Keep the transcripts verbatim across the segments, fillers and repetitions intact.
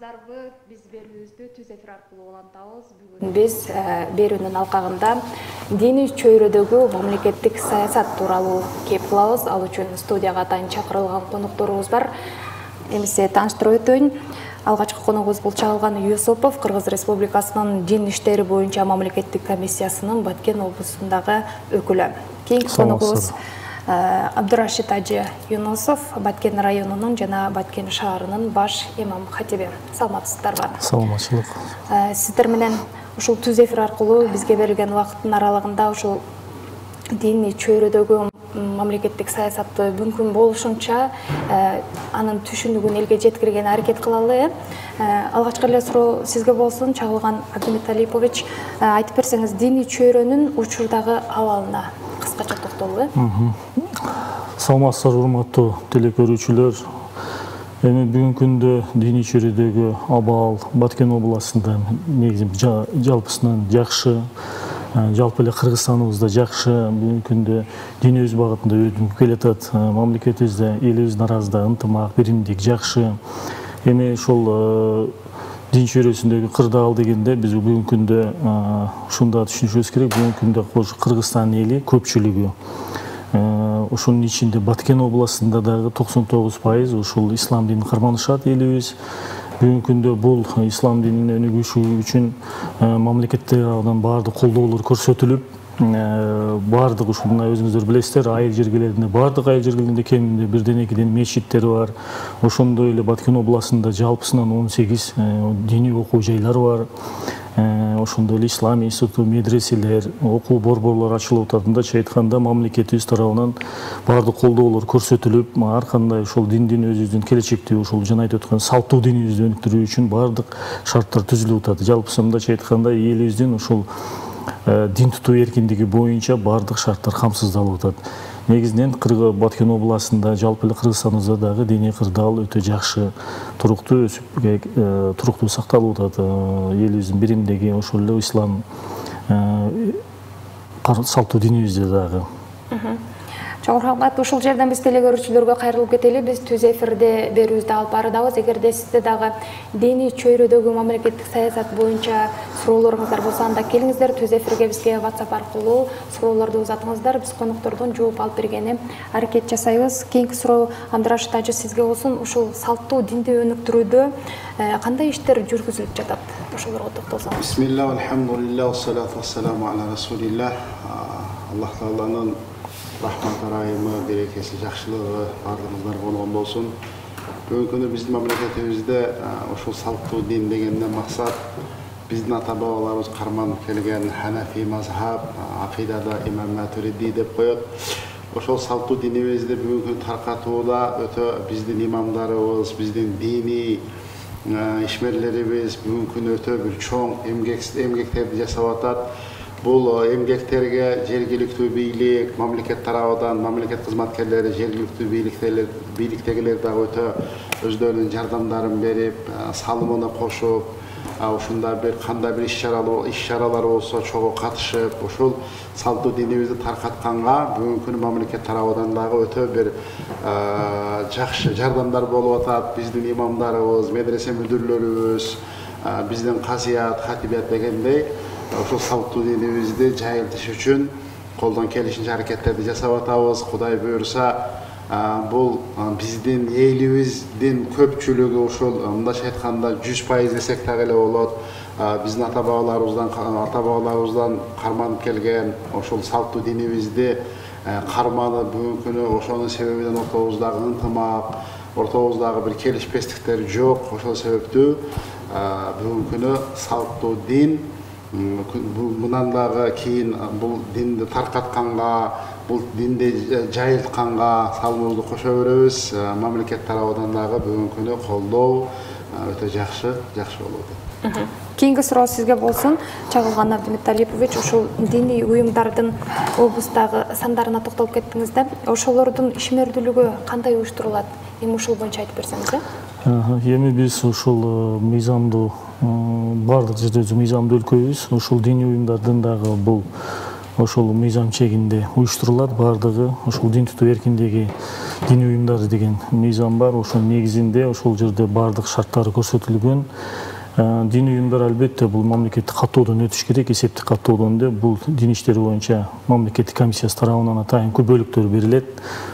саламатсыздарбы? Биз берүүбүздү Түз эфир аркылуу улантабыз. Бүгүн биз берүүнүн алкагында диний чөйрөдөгү мамлекеттик саясат тууралуу кеп кылабыз. Ал үчүн студияга атайын чакырылган конокторубуз бар. Эмесе тааныштырып өтөйүн. Алгачкы коногубуз бул Чагылган Юсупов, Кыргыз Республикасынын дин иштери боюнча мамлекеттик комиссиясынын Баткен облусундагы өкүлү. Кийинки коногубуз Абдурашид Ажы Юнусов, Баткен районунун жана Баткен шаарынын баш имам хатиби. Саламатсыздарбы? Саламатчылык. Сиздер менен ушул Түз эфир аркылуу бизге берилген убакыттын аралыгында ушул диний чөйрөдөгү мамлекеттик саясатты мүмкүн болушунча анын түшүнүгүн элге жеткирген аракет кылалы. Алгачкы эле суроо сизге болсун, Чагылган Абдимуталипович, айтып берсеңиз, диний чөйрөнүн учурдагы абалына кыскача токтолгула. Саламатсыздар, урматтуу теле көрүүчүлөр. Эми бүгүнкү күндө диний чөйрөдөгү абал Баткен областында негизи жалпысынан жакшы, жалпы эле Кыргызстаныбызда жакшы. Бүгүнкү күндө динибиз багытында өтүп келатат. Мамлекетибизде, элибиздин арасында ынтымак, биримдик жакшы. Эми ошол дин чөйрөсүндөгү кырдаал дегенде биз бүгүнкү күндө ушунда түшүнүшүбүз керек. Бүгүнкү күндө Кыргызстан эли көпчүлүгү, ошонун ичинде Баткен областында дагы токсон тогуз пайыз ушул ислам динин карманышат элибиз. Бүгүнкү күндө бул ислам динин өнүгүшү үчүн мамлекет тарабынан баардык колдоолор көрсөтүлүп, баардык ушул мына өзүңүздөр билесиздер, айыл жергелеринде, баардык айыл жергелеринде кеминде бирден экиден мечиттер бар. Ошондой эле Баткен областында жалпысынан он сегиз диний окуу жайлар бар. Ошондой эле ислам институту, медреселер, окуу борборлор ачылып атат. Мындайча айтканда, мамлекетибиз тарабынан баардык колдоолор көрсөтүлүп, ар кандай ошол диндин өзүбүздүн келечекте ушул жана айтып өткөн салттуу динибизди өнүктүрүү үчүн баардык шарттар түзүлүп атат. Жалпысы мындайча айтканда, элибиздин ушул дин тутуу эркиндиги боюнча баардык шарттар камсыздалып атат. Негизинен Баткен областында, жалпы эле Кыргызстаныбызда дагы диний кырдаал өтө жакшы, туруктуу өсүп, туруктуу сакталып атат. Элибиздин биримдиги, ошол эле ислам салттуу динибизде дагы. Чоң рахмат. Ушул жерден биз теле көрүүчүлөргө кайрылып кетели. Биз Түз эфирде берүүбүздү алып барабыз. Эгерде сизде дагы диний чөйрөдөгү мамлекеттик саясат боюнча суроолоруңуздар болсо, анда келиңиздер, Түз эфирге бизге WhatsApp аркылуу суроолорду узатыңыздар. Биз коноктордон жооп алып бергени аракет жасайбыз. Кийинки суроо Абдурашид Ажы сизге болсун. Ушул салттуу динди өнүктүрүүдө кандай иштер жүргүзүлүп жатат? Ошолорго токтолсоңуз. Бисмилlah, алхамдулилlah, ассалату вассаламу аля расулилlah. Аллах тааланын рахмат райымы, берекеси, жакшылыгы баардыгыңыздар болгон болсун. Бүгүнкү күндө биздин мамлекетибизде ошол салттуу дин дегенден максат биздин ата бабаларыбыз карманып келген Ханафи мазхаб, акыйдада имам Матуриди деп коет. Ошол салттуу динибизди бүгүнкү таркатууда өтө биздин имамдарыбыз, биздин диний ишмерлерибиз бүгүнкү күндө өтө бир чоң эмгектерди жасап атат. Бул эмгектерге жергиликтүү бийлик, мамлекет тарабынан, мамлекет кызматкерлери, жергиликтүү бийликтегилер дагы өтө өздөрүнүн жардамдарын берип, салымына кошуп, ушунда бир кандай бир иш-чаралар болсо чогуу катышып, ушул салттуу динибизди таркатканга бүгүнкү күнү мамлекет тарабынан дагы өтө бир жакшы жардамдар болуп атат. Биздин имамдарыбыз, медресе мүдүрлөрүбүз, биздин казият, хатибият дегендей ошол салттуу динибизди жайылтыш үчүн колдон келишинче аракеттерди жасап атабыз. Кудай буюрса, бул биздин элибиздин көпчүлүгү ушул мындайча айтканда жүз пайыз десек дагы эле болот. Биздин ата бабаларыбыздан ата бабаларыбыздан карманып келген ошол салттуу динибизди карманып, бүгүнкү күнү ошонун себебинен ортобуздагы ынтымак, ортобуздагы бир келишпестиктер жок. Ошол себептүү бүгүнкү күнү салттуу дин мындан дагы кийин бул динди таркатканга, бул динди жайылтканга салымыбызды кошо беребиз. Мамлекет тарабынан дагы бүгүнкү күнү колдоо өтө жакшы, жакшы болуп атат. Кийинки суроо сизге болсун, Чагылган Абдимуталипович, ушул диний уюмдардын облустагы сандарына токтолуп кеттиңиз да. Ошолордун ишмердүүлүгү кандай уюштурулат? Эми ушул боюнча айтып берсеңиз. Эми биз ушул мыйзамдуу баардык жерде мыйзамдуу өлкөбүз. Ушул диний уюмдардын дагы бул ошол мыйзам чегинде уюштурулат. Бардыгы ошол дин тутуу эркиндиги диний уюмдары деген мыйзам бар. Ошонун негизинде ошол жерде бардык шарттары көрсөтүлгөн. Диний уюмдар албетте бул мамлекеттик каттоодон өтүш керек. Эсептик каттоодон деп бул дин иштери боюнча мамлекеттик комиссиясы тарабынан атайын күбөлүктөр берилет.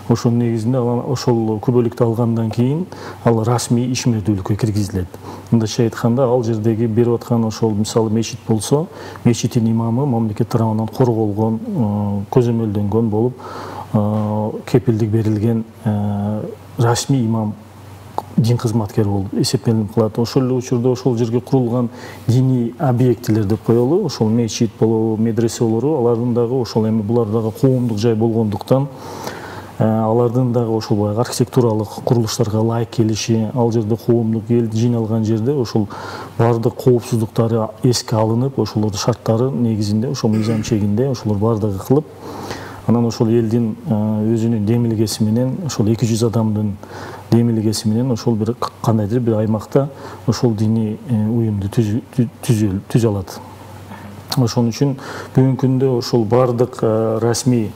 Ошонун негизинде ошол күбөлүктү алгандан кийин ал расмий ишмердүүлүккө киргизилет. Мындайча айтканда, ал жердеги берип аткан ошол мисалы мечит болсо, мечиттин имамы мамлекет тарабынан корголгон, көзөмөлдөнгөн болуп, кепилдик берилген расмий имам дин кызматкер болуп эсептелип калат. Ошол эле учурда ошол жерге курулган диний объектилер деп коелу, ошол мечит болобу, медресе болобу, алардын дагы ошол эми булар дагы коомдук жай болгондуктан алардын дагы ошол баягы архитектуралык курулуштарга ылайык келиши, ал жерде коомдук эл жыйналган жерде ошол баардык коопсуздуктары эске алынып, ошолордун шарттары негизинде ошол мыйзам чегинде ошолор баардыгы кылып, анан ошол элдин өзүнүн демилгеси менен, ошол эки жүз адамдын демилгеси менен ошол бир кандайдыр бир аймакта ошол диний уюмду түзө алат. Ошон үчүн бүгүнкү күндө ошол баардык расмий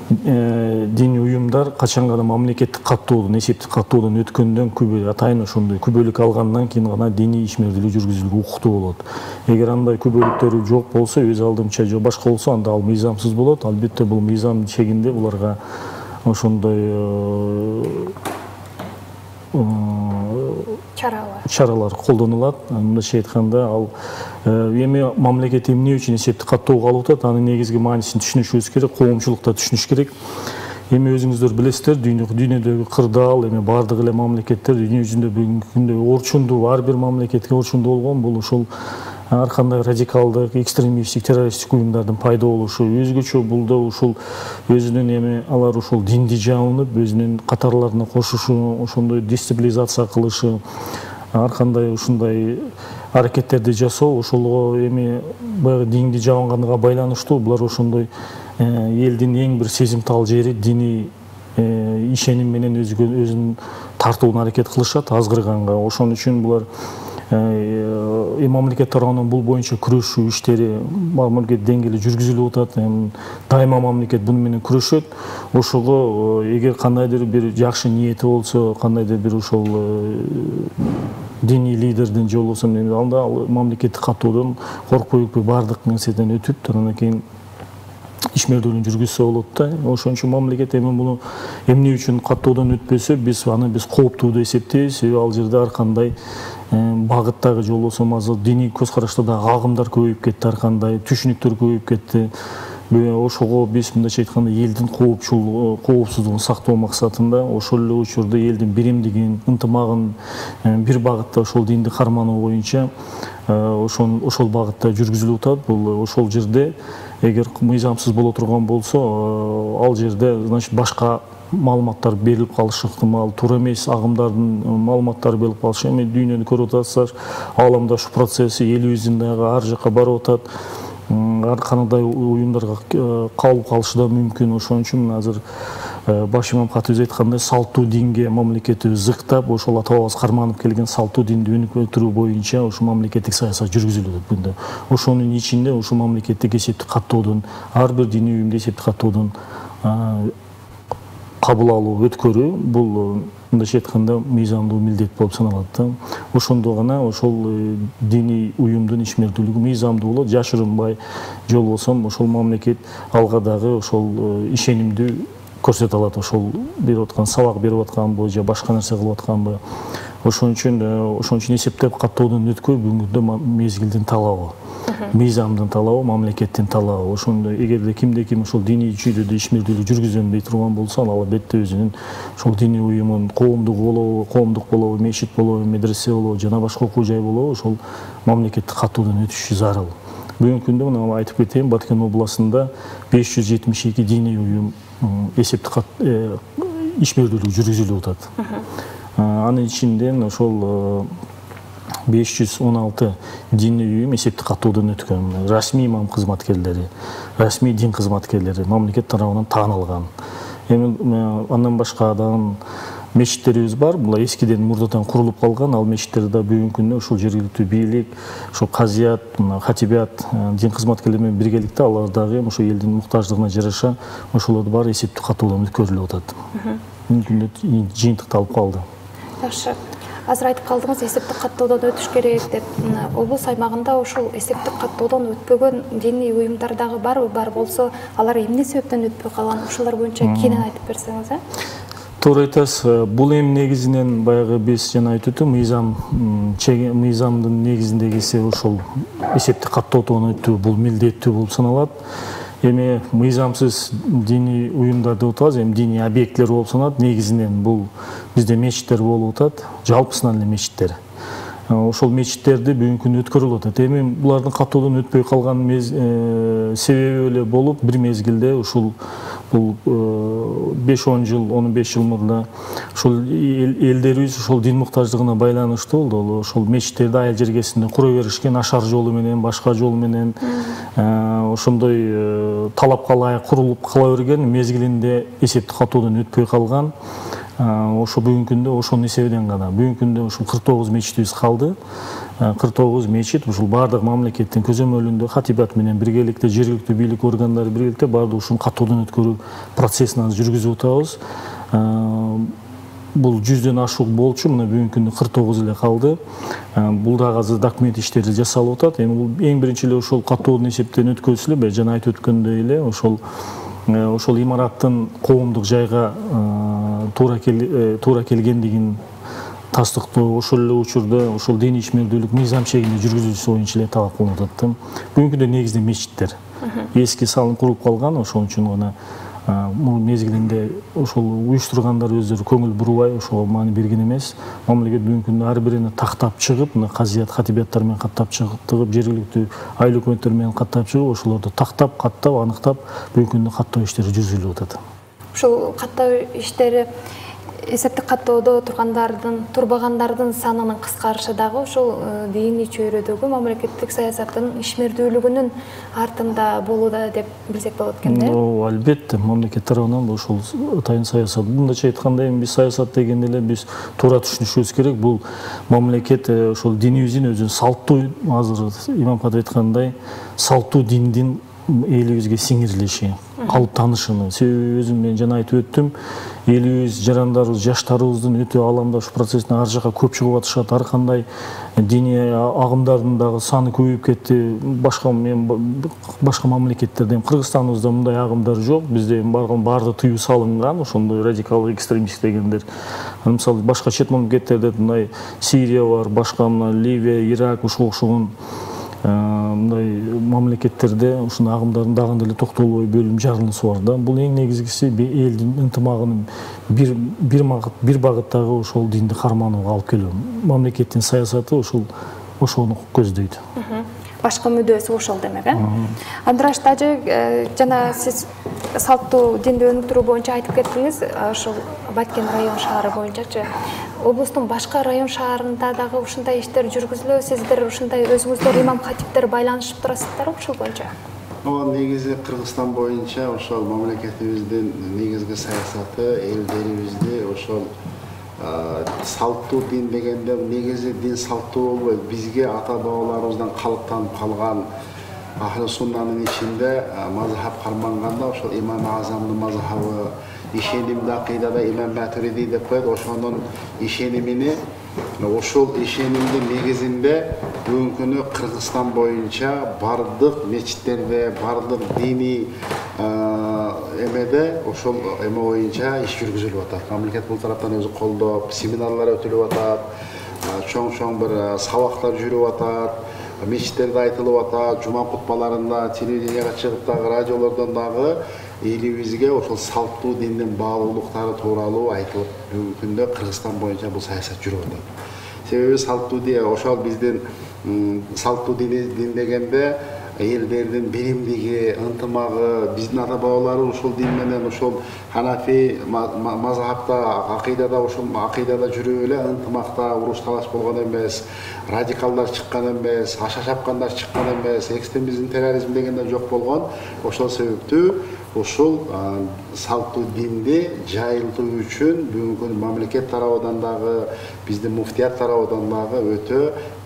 диний уюмдар качан гана мамлекеттик каттоодон, эсептик каттоодон өткөндөн күбө атайын ошондой күбөлүк алгандан кийин гана диний ишмердүүлүк жүргүзүлүүгө укуктуу болот. Эгер андай күбөлүктөрү жок болсо, өз алдымча же башка болсо, анда ал мыйзамсыз болот. Албетте бул мыйзам чегинде буларга ошондой чаралар чаралар колдонулат. Мындайча айтканда, ал эми мамлекет эмне үчүн эсептик каттоого алып атат, анын негизги маанисин түшүнүшүбүз керек, коомчулукта түшүнүш керек. Эми өзүңүздөр билесиздер, дүйнөдөгү кырдаал, эми бардык эле мамлекеттер дүйнө жүзүндө бүгүнкү күндө орчундуу, ар бир мамлекетке орчундуу болгон бул ошол ар кандай радикалдык, экстремисттик, террористтик уюмдардын пайда болушу, өзгөчө бул да ушул өзүнүн эми алар ушул динди жабынып, өзүнүн катарларына кошушу, ошондой дестабилизация кылышы, ар кандай ушундай аракеттерди жасоо, ошолго эми баягы динди жабынганга байланыштуу. Булар ошондой элдин эң бир сезимтал жери диний ишеним менен өзүн тартууна аракет кылышат азгырганга. Ошон үчүн булар мамлекет тарабынан бул боюнча күрөшүү иштери мамлекет деңгээлде жүргүзүлүп атат. Дайыма мамлекет буну менен күрөшөт. Ошого эгер кандайдыр бир жакшы ниети болсо, кандайдыр бир ошол диний лидердин же болбосо анда мамлекеттик каттоодон коркпой өкпөй баардык нерседен өтүп, андан кийин ишмердүүлүгүн жүргүзсө болот да. Ошон үчүн мамлекет эми муну эмне үчүн каттоодон өтпөсө, биз аны биз кооптуу деп эсептейбиз. Себеби ал жерде ар кандай багыттагы же болбосо азыр диний көз карашта дагы агымдар көбөйүп кетти, ар кандай түшүнүктөр көбөйүп кетти. Ошого биз мындайча айтканда элдин коопчул коопсуздугун сактоо максатында ошол эле учурда элдин биримдигин, ынтымагын бир багытта ошол динди кармануу боюнча ошол ошол багытта жүргүзүлүп атат. Бул ошол жерде эгер мыйзамсыз боло турган болсо, ал жерде значит башка маалыматтар берилип калышы ыктымал, туура эмес агымдардын маалыматтары берилип калышы. Эми дүйнөнү көрүп атасыздар, ааламдаштык процесси элибиздин дагы ар жака барып атат. Ар кандай уюмдарга кабыл калышы да мүмкүн. Ошон үчүн азыр баш имам катыбыз айткандай, салттуу динге мамлекетибиз зыктап, ошол ата бабабыз карманып келген салттуу динди өнүктүрүү боюнча ошо мамлекеттик саясат жүргүзүлөт бүгүндө. Ошонун ичинде ошо мамлекеттик эсептик каттоодон, ар бир диний уюмду эсептик каттоодон кабыл алуу, өткөрүү бул мындайча айтканда мыйзамдуу милдет болуп саналат да. Ошондо гана ошол диний уюмдун ишмердүүлүгү мыйзамдуу болот, жашырынбай же болбосо ошол мамлекет алга дагы ошол ишенимдүү көрсөтө алат, ошол берип аткан сабак берип атканбы же башка нерсе кылып атканбы. Ошон үчүн ошон үчүн эсептеп каттоодон өткөй бүгүнкү күндө мезгилдин талабы, мыйзамдын талабы, мамлекеттин талабы. Ошондо эгерде кимде ким ошол диний чүйдөдө ишмердүүлүк жүргүзөм дей турган болсо, ал албетте өзүнүн ошол диний уюмун, коомдук болобу, коомдук болобу, мечит болобу, медресе болобу, жана башка окуу жай болобу, ошол мамлекеттик каттоодон өтүшү зарыл. Бүгүнкү күндө мына айтып кетейин, Баткен областында беш жүз жетимиш эки диний уюм эсептик ишмердүүлүк жүргүзүлүп атат. Анын ичинен ошол беш жүз он алты диний уюм эсептик каттоодон өткөн. Расмий имам кызматкерлери, расмий дин кызматкерлери мамлекет тарабынан таанылган. Эми андан башка дагы мечиттерибиз бар. Бул эскиден мурдадан курулуп калган. Ал мечиттерде да бүгүнкү күндө ушул жергиликтүү бийлик, ошо казият, хатибят, дин кызматкерлери менен биргеликте алар дагы ошо элдин муктаждыгына жараша ошолорду баары эсептик каттоодон өткөрүлүп атат. Бүгүнкү күндө жыйынтыкталып калды. Жакшы. Азыр айтып калдыңыз, эсептик каттоодон өтүш керек деп. Облус аймагында ошол эсептик каттоодон өтпөгөн диний уюмдар дагы барбы? Бар болсо, алар эмне себептен өтпөй калган? Ушулар боюнча кенен айтып берсеңиз, э? Туура айтасыз. Бул эми негизинен баягы биз жана айтып өттүм, мыйзам мыйзамдын негизиндегиси ошол эсептик каттоодон өтүү бул милдеттүү болуп саналат. Эми мыйзамсыз диний уюмдар деп атабыз, эми диний объектлер болуп саналат. Негизинен бул бизде мечиттер болуп атат, жалпысынан эле мечиттер. Ошол мечиттерди бүгүнкү күндө өткөрүлүп атат. Эми булардын каттоодон өтпөй калган себеби эле болуп, бир мезгилде ушул бул беш он жыл, он беш жыл мурда ошол элдерибиз ошол дин муктаждыгына байланыштуу болду. Ошол мечиттерди айыл жергесинде кура беришкен, ашар жолу менен, башка жол менен ошондой талапка ылайык курулуп кала берген, мезгилинде эсептик каттоодон өтпөй калган. Ошо бүгүнкү күндө ошонун эсебинен гана бүгүнкү күндө ушул кырк тогуз мечитибиз калды. кырк тогуз мечит ушул баардык мамлекеттин көзөмөлүндө хатибат менен биргеликте, жергиликтүү бийлик органдары биргеликте баардык ушул каттоодон өткөрүү процессин азыр жүргүзүп атабыз. Бул жүздөн ашык болчу, мына бүгүнкү күндө кырк тогуз эле калды. Бул дагы азыр документ иштери жасалып атат. Эми бул эң биринчи эле ошол каттоодон эсептен өткөзүлүп, эле жана айтып өткөндөй эле ошол ошол имараттын коомдук жайга туура туура келгендигин тастыктоо, ошол эле учурда ошол диний ишмердүүлүк мыйзам чегинде жүргүзүлүшү боюнча эле талап кылынып атат. Бүгүнкү күндө негизинен мечиттер эски салынып куруп калган, ошон үчүн гана бул мезгилинде ошол уюштургандар өздөрү көңүл бурбай ошого маани берген эмес. Мамлекет бүгүнкү күндө ар бирине тактап чыгып, мына казият, хатибяттар менен каттап чыгып, жергиликтүү айыл өкмөттөр менен каттап чыгып, ошолорду тактап, каттап, аныктап бүгүнкү күндө каттоо иштери жүргүзүлүп атат. Ушул каттоо иштери эсептик каттоодо тургандардын, турбагандардын санынын кыскарышы дагы ошол диний чөйрөдөгү мамлекеттик саясаттын ишмердүүлүгүнүн артында болууда деп билсек болот экен да? Ооба, албетте, мамлекет тарабынан ошол атайын саясат. Мындайча айтканда, эми биз саясат дегенде эле биз туура түшүнүшүбүз керек. Бул мамлекет ошол динибиздин өзүнүн салттуу, азыр имам катып айткандай, салттуу диндин элибизге сиңирилиши, калып таанышыны. Себеби өзүм мен жана айтып өттүм, элибиз, жарандарыбыз, жаштарыбыздын өтө аламда ушу процесстин ар жака көп чыгып атышат. Ар кандай диний агымдардын дагы саны көбөйүп кетти. Башка мен башка мамлекеттерде, Кыргызстаныбызда мындай агымдар жок. Бизде баарды тыюу салынган, ошондой радикал экстремист дегендер. Мисалы башка чет мамлекеттерде мындай Сирия бар, башка мына Ливия, Ирак, ушуга окшогон мындай мамлекеттерде ушундай агымдардын дагы деле токтолбой бөлүм жарылуусу бар да. Бул эң негизгиси элдин ынтымагынын бир бир багыт бир багыттагы ошол динди карманууга алып келүү. Мамлекеттин саясаты ошол ошону көздөйт. Башка мүдөөсү ошол демек, э? Андраш Тажы, жана сиз салттуу динди өнүктүрүү боюнча айтып кеттиңиз, ошол Баткен район шаары боюнчачы. Облустун башка район шаарында дагы ушундай иштер жүргүзүлөбү? Сиздер ушундай өзүңүздөр имам хатиптер байланышып турасыздарбы ушул боюнча? Ооба, негизи Кыргызстан боюнча ошол мамлекетибиздин негизги саясаты элдерибизди ошол салттуу дин дегенде негизи дин салттуу болбойт. Бизге ата бабаларыбыздан калыптанып калган ахли суннанын ичинде мазхаб карманганда ошол имам Азамдын мазхабы, ишенимди акыйдада имам Матуриди деп коет. Ошонун ишенимини, ошол ишенимдин негизинде бүгүнкү күнү Кыргызстан боюнча бардык мечиттерде, бардык диний эмеде ошол эме боюнча иш жүргүзүлүп атат. Мамлекет бул тараптан өзү колдоп, семинарлар өтүлүп атат, чоң-чоң бир сабактар жүрүп атат, мечиттерде айтылып атат, жума кутбаларында, телевиденияга чыгып дагы, радиолордон дагы элибизге ошол салттуу диндин баалуулуктары тууралуу айтылып, бүгүнкү күндө Кыргызстан боюнча бул саясат жүрүп атат. Себеби салттуу дин ошол биздин салттуу дин дегенде элдердин биримдиги, ынтымагы, биздин ата бабалары ушул дин менен ушул Ханафи мазхабта, акыйдада ошол акыйдада жүрүп эле ынтымакта уруш талаш болгон эмес, радикалдар чыккан эмес, аша чапкандар чыккан эмес, экстремизм, терроризм дегендер жок болгон. Ошол себептүү ушул салттуу динди жайылтуу үчүн бүгүнкү күндө мамлекет тарабынан дагы биздин муфтият тарабынан дагы өтө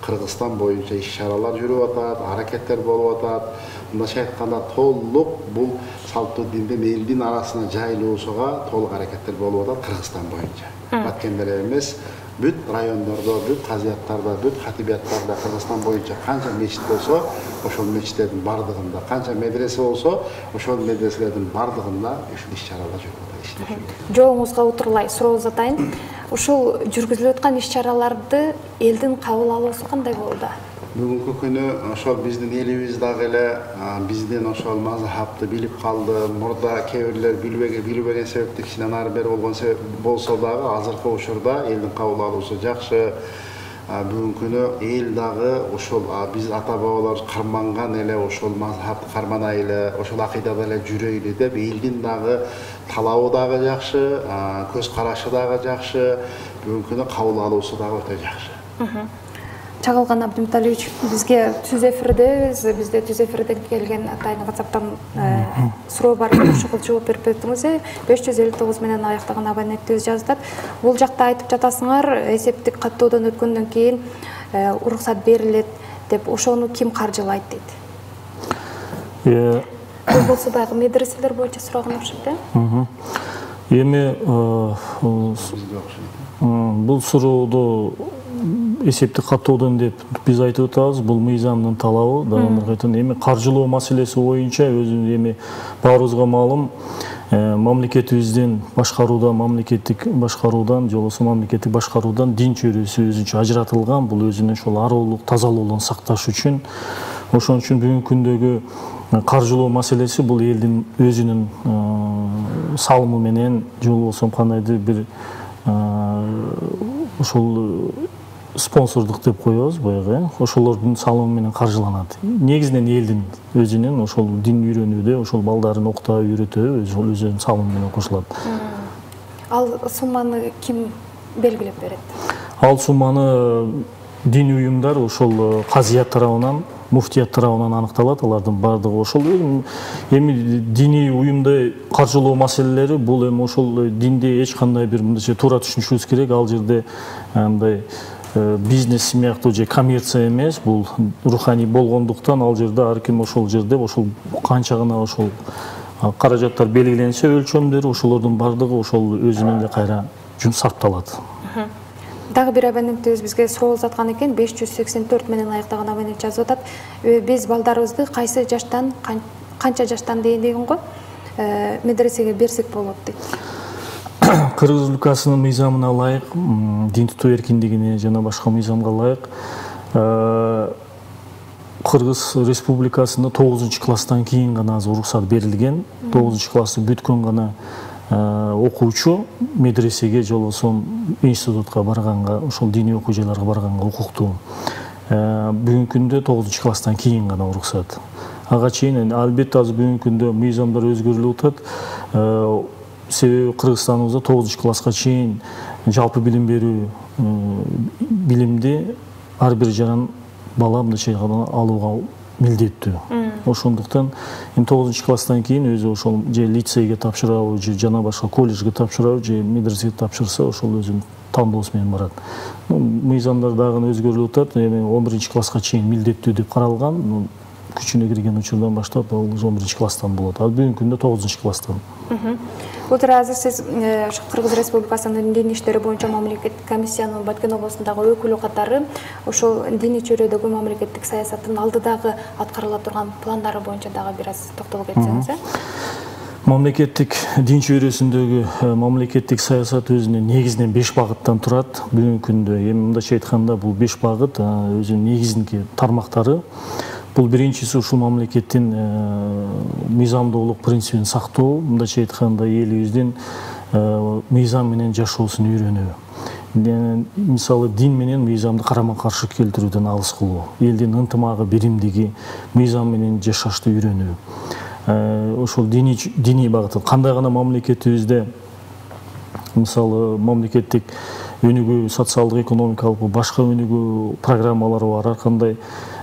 Кыргызстан боюнча иш-чаралар жүрүп атат, аракеттер болуп атат. Мындайча айтканда толук бул салттуу диндин элдин арасына жайылуусуга толук аракеттер болуп атат Кыргызстан боюнча. Баткенде эле эмес, бүт райондордо, бүт казияттарда, бүт хатибияттарда Кыргызстан боюнча канча мечит болсо, ошол мечиттердин бардыгында, канча медресе болсо, ошол медреселердин бардыгында ушул иш-чаралар жүрүп атат. Жооңузга отурлай суроо атайын. Ушул жүргүзүлүп аткан иш-чараларды элдин кабыл алуусу кандай болду? Бүгүнкү күнү ошол биздин элибиз дагы эле биздин ошол мазхабты билип калды. Мурда кээ бирлер билбеген билбеген себептен кичине ары бери болгон болсо дагы азыркы учурда элдин кабыл алуусу жакшы. Бүгүнкү күнү эл дагы ошол биз ата бабалар карманган эле ошол мазхабты карманайлы, ошол акыйдада эле жүрөйлү деп элдин дагы талабы дагы жакшы, көз карашы дагы жакшы, бүгүнкү күнү кабыл алуусу дагы өтө жакшы. Чагылган Абдымталиевич, бизге түз эфирдебиз, бизде түз эфирден келген атайын WhatsApp'тан суроо бар, ошого жооп берип бердиңиз. беш жүз элүү тогуз менен аяктаган абоненттибиз жаздат. Бул жакта айтып жатасыңар, эсептик каттоодон өткөндөн кийин уруксат берилет деп, ошону ким каржылайт дейт. Бул болсо баягы медреселер боюнча сураган окшойт да? Эми бул сурооду эсептик каттоодон деп биз айтып атабыз, бул мыйзамдын талабы. Дагы кайтан эми каржылоо маселеси боюнча өзү эми баарыбызга маалым, мамлекетибиздин башкаруудан, мамлекеттик башкаруудан, же болбосо мамлекеттик башкаруудан дин чөйрөсү өзүнчө ажыратылган. Бул өзүнүн ошол ароолук, тазалуулугун сакташ үчүн. Ошон үчүн бүгүнкү күндөгү каржылоо маселеси бул элдин өзүнүн салымы менен, же болбосо кандайдыр бир ошол спонсордук деп коебуз баягы, ошолордун салымы менен каржыланат. Негизинен элдин өзүнүн ошол дин үйрөнүүдө, ошол балдарын окутуу, үйрөтүү өзүнүн салымы менен кошулат. Ал сумманы ким белгилеп берет? Ал сумманы дин уюмдар ошол казият тарабынан, муфтият тарабынан аныкталат. Алардын бардыгы ошол эми диний уюмда каржылоо маселелери бул эми ошол динде эч кандай бир мындайча туура түшүнүшүбүз керек. Ал жерде мындай бизнес сыяктуу же коммерция эмес, бул руханий болгондуктан ал жерде ар ким ошол жерде ошол канча гана ошол каражаттар белгиленсе өлчөмдөр, ошолордун бардыгы ошол өзүнүн эле кайра сарпталат. Дагы бир абонентибиз бизге суроо узаткан экен, беш жүз сексен төрт менен аяктаган абонент жазып атат. Биз балдарыбызды кайсы жаштан, канча жаштан дейин деген го медресеге берсек болот дейт. Кыргыз Республикасынын мыйзамына ылайык, дин тутуу эркиндигине жана башка мыйзамга ылайык Кыргыз Республикасында тогузунчу класстан кийин гана уруксат берилген. тогузунчу классты бүткөн гана окуучу медресеге же болбосо институтка барганга, ошол диний окуу жайларга барганга укуктуу. Бүгүнкү күндө тогузунчу класстан кийин гана уруксат. Ага чейин албетте азыр бүгүнкү күндө мыйзамдар өзгөрүлүп атат. Себеби Кыргызстаныбызда тогузунчу класска чейин жалпы билим берүү билимди ар бир жаран бала мындайча алууга милдеттүү. Ошондуктан тогузунчу класстан кийин өзү ошол же лицейге тапшырабы, же жана башка колледжге тапшырабы, же медресеге тапшырса, ошол өзүнүн тандоосу менен барат. Мыйзамдар дагы өзгөрүлүп атат. Эми он биринчи класска чейин милдеттүү деп каралган. Күчүнө кирген учурдан баштап ал он биринчи класстан болот. Ал бүгүнкү күндө тогузунчу класстан. Былтыр азыр сиз Кыргыз Республикасынын дин иштери боюнча мамлекеттик комиссиянын Баткен областындагы өкүлү катары ошол диний чөйрөдөгү мамлекеттик саясаттын алдыдагы аткарыла турган пландары боюнча дагы бир аз токтолуп кетсеңиз. Мамлекеттик дин чөйрөсүндөгү мамлекеттик саясат өзүнүн негизинен беш багыттан турат. Бүгүнкү күндө эми мындайча айтканда бул беш багыт өзүнүн негизинки тармактары. Бул биринчиси ушул мамлекеттин мыйзамдуулук принцибин сактоо, мындайча айтканда элибиздин мыйзам менен жашоосун үйрөнүү. Мисалы дин менен мыйзамды карама-каршы келтирүүдөн алыс кылуу, элдин ынтымагы, биримдиги, мыйзам менен жашашты үйрөнүү. Ошол диний багыты кандай гана мамлекетибизде мисалы мамлекеттик өнүгүү, социалдык, экономикалык башка өнүгүү программалары бар, ар кандай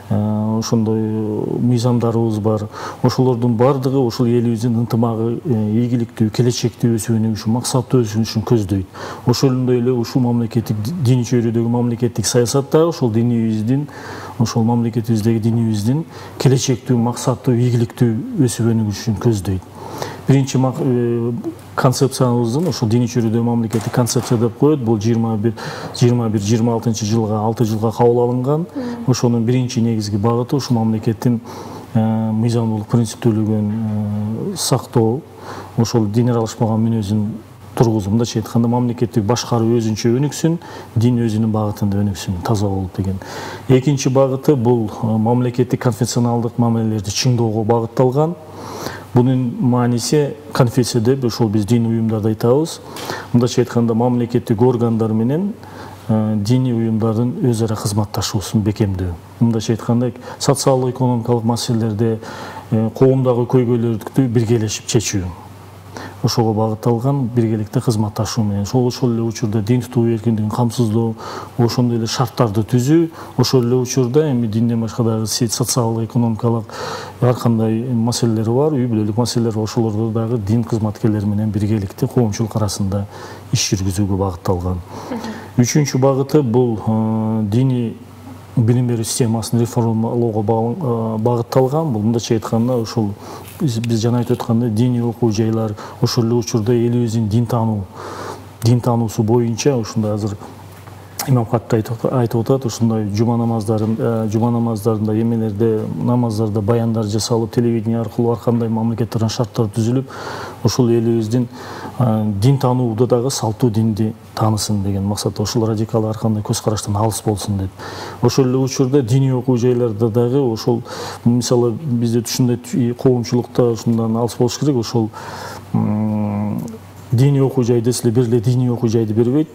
ошондой мыйзамдарыбыз бар. Ошолордун бардыгы ошол элибиздин ынтымагы, ийгиликтүү, келечектүү өсүүнү үчүн, максаттуу өсүүнү үчүн көздөйт. Ошондой эле ушул мамлекеттик диний чөйрөдөгү мамлекеттик саясат дагы ошол динибиздин, ошол мамлекетибиздеги динибиздин келечектүү, максаттуу, ийгиликтүү өсүүнү үчүн көздөйт. Биринчи концепциябыздын ошол диний чөйрөдөгү мамлекеттик концепция деп коет. Бул жыйырма бир жыйырма алтынчы жылга алты жылга кабыл алынган. Ошонун биринчи негизги багыты ушул мамлекеттин мыйзамдуулук принциптүүлүгүн сактоо, ошол дин аралашпаган мүнөзүн тургузуу. Мындайча айтканда, мамлекеттик башкаруу өзүнчө өнүксүн, дин өзүнүн багытында өнүксүн, таза болуп деген. Экинчи багыты бул мамлекеттик конфессионалдык мамилелерди чыңдоого багытталган. Bunun manisi konfessiya деп ошол биз диний уюмдарды айтабыз. Мындайча айтканда, мамлекеттик органдар менен диний уюмдардын өз ара кызматташуусун бекемдөө. Мындайча айтканда, социалдык экономикалык маселелерде коомдогу көйгөйлөрдү биргелешип чечүү. Ошого багытталган биргеликте кызматташуу менен ошол ошол эле учурда дин тутуу эркиндигин камсыздоо, ошондой эле шарттарды түзүү, ошол эле учурда эми динден башка дагы социалдык экономикалык ар кандай маселелер бар, үй бүлөлүк маселелер, ошолордо дагы дин кызматкерлери менен биргеликте коомчулук арасында иш жүргүзүүгө багытталган. Үчүнчү багыты бул диний билим берүү системасын реформалоого багытталган. Бул мындайча айтканда, ошол биз жана айтып аткандай диний окуу жайлар, ошол эле учурда элибиздин дин таануу, дин таануусу боюнча ушундай азыр имам хатта айтып атат, ушундай жума намаздарын, жума намаздарында, эмелерде, намаздарда баяндар жасалып, телевидение аркылуу ар кандай мамлекеттердин шарттары түзүлүп, ошол элибиздин дин таанууда дагы салтуу динди таанысын деген максатта, ошол радикал ар кандай көз караштан алыс болсун деп. Ошол эле учурда диний окуу жайларда дагы ошол, мисалы бизде түшүндөй коомчулукта ушундан алыс болуш керек, ошол диний окуу жай десе бир эле диний окуу жайды бербейт.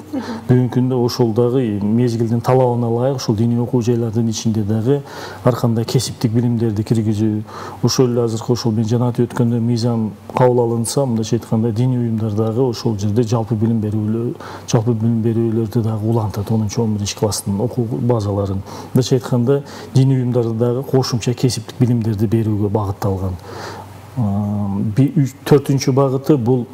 Бүгүнкү күндө ошол дагы мезгилдин талабына ылайык ошол диний окуу жайлардын ичинде дагы ар кандай кесиптик билимдерди киргизүү, ошол эле азыркы ошол мен жана айтып өткөндө мыйзам кабыл алынса, мындайча айтканда, диний уюмдар дагы ошол жерде жалпы билим берүүлөр, жалпы билим берүүлөрдү дагы улантат, онунчу он биринчи класстын окуу базаларын. Мындайча айтканда, диний уюмдарды дагы кошумча кесиптик билимдерди берүүгө багытталган. Төртүнчү багыты бул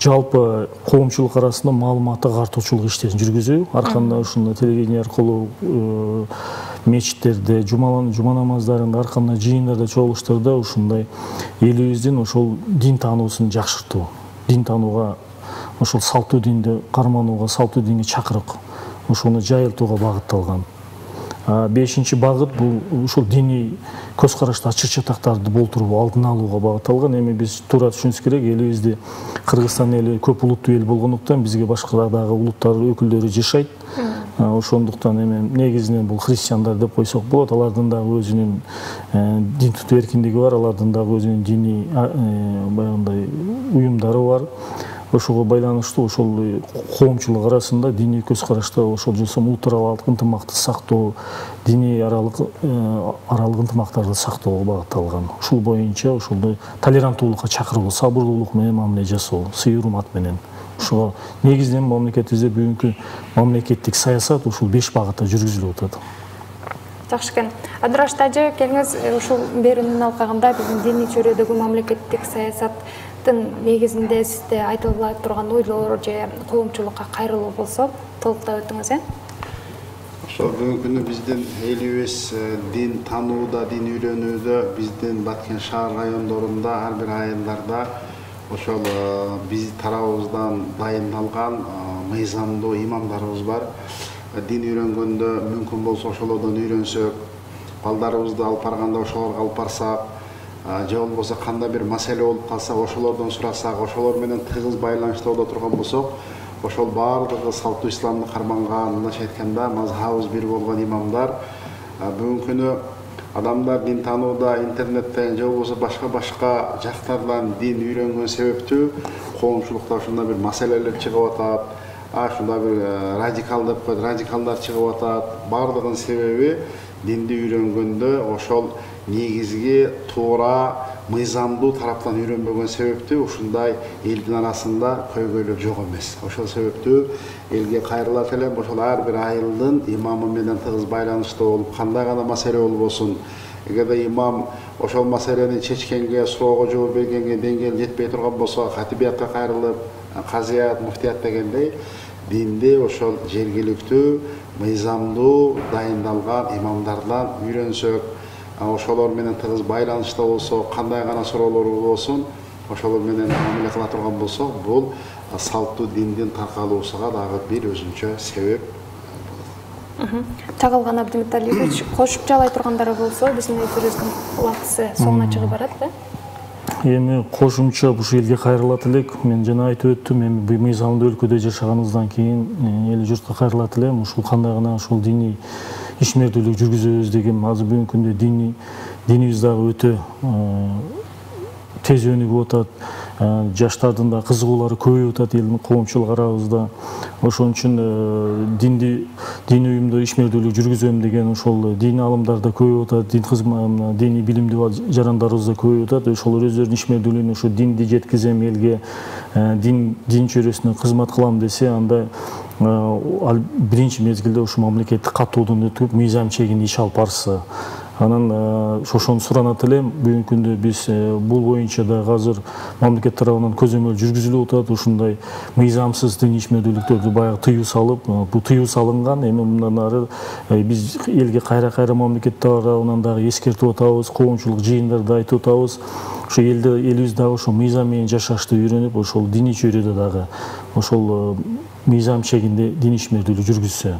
жалпы коомчулук арасында маалыматтык артуучулук иштерин жүргүзүү. Ар кандай ушундай телевидение аркылуу мечиттерде, жума намаздарында, ар кандай жыйындарда, чогулуштарда ушундай элибиздин ошол дин таануусун жакшыртуу, дин таанууга, ошол салтуу динди карманууга, салтуу динге чакырык, ошону жайылтууга багытталган. Бешинчи багыт бул ушул диний көз карашты ачык чатактарды болтуруу, алдын алууга багытталган. Эми биз туура түшүнүш керек, элибизде Кыргызстан эли көп улуттуу эл болгондуктан бизге башка дагы улуттар өкүлдөрү жашайт. Ошондуктан эми негизинен бул христиандар деп койсок болот. Алардын дагы өзүнүн дин тутуу эркиндиги бар, алардын дагы өзүнүн диний баягындай уюмдары бар. Ошого байланыштуу ошол коомчулук арасында диний көз карашта ошол жосом улут аралык ынтымакты сактоо, диний аралык аралык ынтымактарды сактоого багытталган. Ушул боюнча ошолдой толеранттуулукка чакыруу, сабырдуулук менен мамиле жасоо, сый урмат менен. Ошого негизинен мамлекетибизде бүгүнкү мамлекеттик саясат ушул беш багытта жүргүзүлүп атат. Жакшы экен. Адыраш тажы, келиңиз ушул берүүнүн алкагында биздин диний чөйрөдөгү мамлекеттик саясаттын негизинде сизде айтыла турган ойлор же коомчулукка кайрылуу болсо, толуктап өтүңүз, э? Ошол бүгүнкү күндө биздин элибиз дин таанууда, дин үйрөнүүдө биздин Баткен шаар райондорунда, ар бир айылдарда ошол биз тарабыбыздан дайындалган мыйзамдуу имамдарыбыз бар. Дин үйрөнгөндө мүмкүн болсо ошолордон үйрөнсөк, балдарыбызды алып барганда ошолорго алып барсак, же болбосо кандай бир маселе болуп калса ошолордон сурасак, ошолор менен тыгыз байланышта боло турган болсок, ошол баардыгы салтуу исламды карманган, мындайча айтканда, мазхабыбыз бир болгон имамдар бүгүнкү күнү адамдар дин таанууда интернеттен же болбосо башка-башка жактардан дин үйрөнгөн себептүү коомчулукта ушундай бир маселелер чыгып атат. Ушундай бир радикал деп коет, радикалдар чыгып атат. Бардыгынын себеби динди үйрөнгөндө ошол негизги туура мыйзамдуу тараптан үйрөнбөгөн себептүү ушундай элдин арасында көйгөйлөр жок эмес. Ошол себептүү элге кайрылат элем, ошол ар бир айылдын имамы менен тыгыз байланыштуу болуп, кандай гана маселе болбосун, эгерде имам ошол маселени чечкенге, суроого жооп бергенге деңгээл жетпей турган болсо, хатибиятка кайрылып, казият, муфтият дегендей динди ошол жергиликтүү мыйзамдуу дайындалган имамдардан үйрөнсөк, ошолор менен тыгыз байланышта болсо, кандай гана суроолор болсун, ошолор менен мамиле кыла турган болсок, бул салттуу диндин таркалуусуга дагы бир өзүнчө себеп. Чагылган Абдимуталипович, кошуп жалай тургандар болсо, биздин эфирибиздин убактысы соңуна чыгып барат да. Эми кошумча ушу элге кайрылат элек. Мен жана айтып өттүм, эми бул мыйзамдуу өлкөдө жашаганыбыздан кийин эл журтка кайрылат элем. Ушул кандай гана ушул диний ишмердүүлүк жүргүзөбүз деген азыр бүгүнкү күндө диний динибиз дагы өтө тез өнүгүп атат. Жаштардын да кызыгуулары көбөйүп атат элдин коомчулук арабызда. Ошон үчүн динди дин уюмдор ишмердүүлүк жүргүзөм деген ошол дин алымдар да көбөйүп атат, дин кызмат, диний билимдүү жарандарыбыз да көбөйүп атат. Ошолор өздөрүнүн ишмердүүлүгүн ушу динди жеткизем элге, дин дин чөйрөсүнө кызмат кылам десе, анда биринчи мезгилде ушу мамлекеттик катуудун өтүп, мыйзам чегинде иш алып барса, анан ошону суранат элем. Бүгүнкү күндө биз бул боюнча да азыр мамлекет тарабынан көзөмөл жүргүзүлүп атат. Ушундай мыйзамсыз дин ишмердүүлүктөрдү баягы тыюу салып, бул тыюу салынган. Эми мындан ары биз элге кайра-кайра мамлекет тарабынан дагы эскертип атабыз, коомчулук жыйындарда айтып атабыз. Ошо элде элибиз дагы ошо мыйзам менен жашашты үйрөнүп, ошол диний чөйрөдө дагы ошол мыйзам чегинде дин ишмердүүлүк жүргүзсө,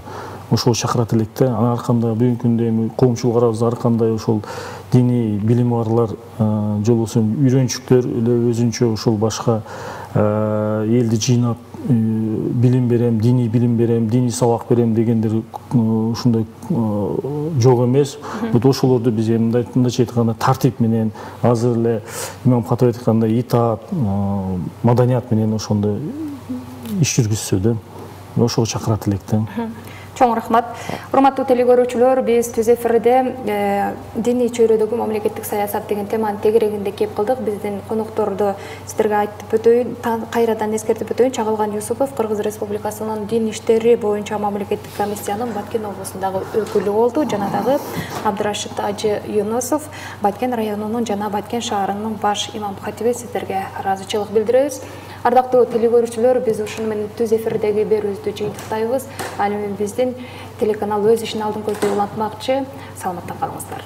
ошол чакырат элек да. Анын арканда бүгүнкү күндө эми коомчулук арабызда ар кандай ошол диний билими барлар же болбосо үйрөнчүктөр эле өзүнчө ошол башка элди жыйнап билим берем, диний билим берем, диний сабак берем дегендер ушундай жок эмес. Бут ошолорду биз эми мындайча айтканда тартип менен, азыр эле имам Катып айткандай итаат, маданият менен ошондой иш жүргүзсө да, ошого чакырат элек да. Чоң рахмат. Урматтуу телекөрүүчүлөр, биз түз эфирде диний чөйрөдөгү мамлекеттик саясат деген теманын тегерегинде кеп кылдык. Биздин конокторду сиздерге айтып өтөйүн, кайрадан эскертип өтөйүн. Чагылган Юсупов Кыргыз Республикасынын дин иштери боюнча мамлекеттик комиссиянын Баткен облусундагы өкүлү болду. Жана дагы Абдырашид Ажы Юнусов, Баткен районунун жана Баткен шаарынын баш имам хатиби. Сиздерге ыраазычылык билдиребиз. Ардактуу телекөрүүчүлөр, биз ушуну менен түз эфирдеги берүүбүздү жыйынтыктайбыз. Ал эми биздин телеканал өз ишин алдын көздөй улантмакчы. Саламатта калыңыздар.